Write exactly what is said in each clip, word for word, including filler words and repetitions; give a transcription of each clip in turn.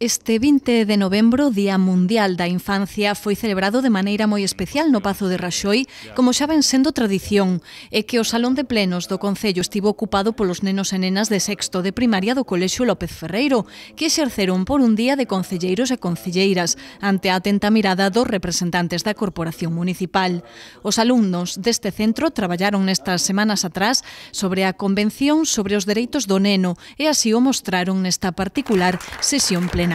Este vinte de novembro, Día Mundial da Infancia, foi celebrado de maneira moi especial no Pazo de Raxoi, como xa ven sendo tradición, e que o Salón de Plenos do Concello estivo ocupado polos nenos e nenas de sexto de primaria do Colexio López Ferreiro, que exerceron por un día de concelleiros e concelleiras, ante a atenta mirada dos representantes da Corporación Municipal. Os alumnos deste centro traballaron nestas semanas atrás sobre a Convención sobre os Dereitos do Neno e así o mostraron nesta particular sesión plenaria.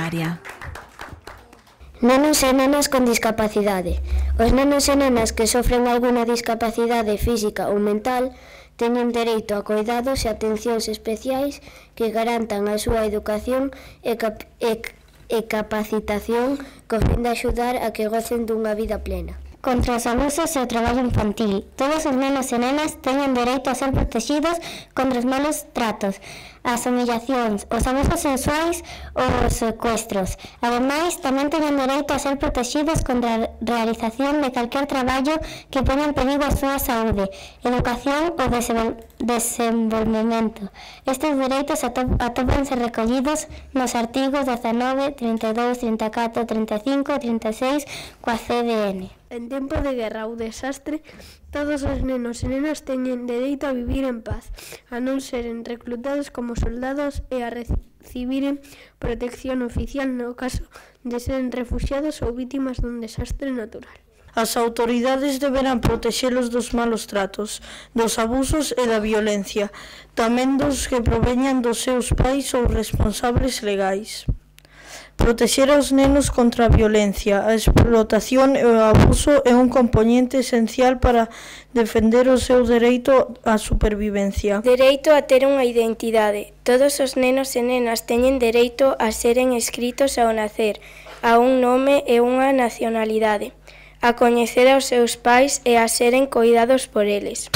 Nenos e nenas con discapacidade. Os nenos e nenas que sofren algunha discapacidade física ou mental teñen dereito a coidados e atencións especiais que garantan a súa educación e, cap e, e capacitación co fin de axudar a que gocen dunha vida plena. Contra os abusos e o traballo infantil. Todos os nenos e nenas teñen dereito a ser protegidos contra os malos tratos, as humillacións, os abusos sexuais ou os secuestros. Ademais, tamén teñen dereito a ser protegidos contra a realización de calquer traballo que poña en perigo a súa saúde, educación ou desenvolvemento. Estes dereitos atópanse recollidos nos artigos dezanove, trinta e dous, trinta e catro, trinta e cinco e trinta e seis coa C D N. En tempo de guerra ou desastre, todos os nenos e nenas teñen dereito a vivir en paz, a non seren reclutados como soldados e a recibiren protección oficial no caso de seren refuxiados ou vítimas dun desastre natural. As autoridades deberán protexelos dos malos tratos, dos abusos e da violencia, tamén dos que proveñan dos seus pais ou responsables legais. Protexer aos nenos contra a violencia, a explotación e o abuso é un compoñente esencial para defender o seu dereito á supervivencia. Dereito a ter unha identidade. Todos os nenos e nenas teñen dereito a seren escritos ao nacer, a un nome e unha nacionalidade, a coñecer aos seus pais e a seren coidados por eles.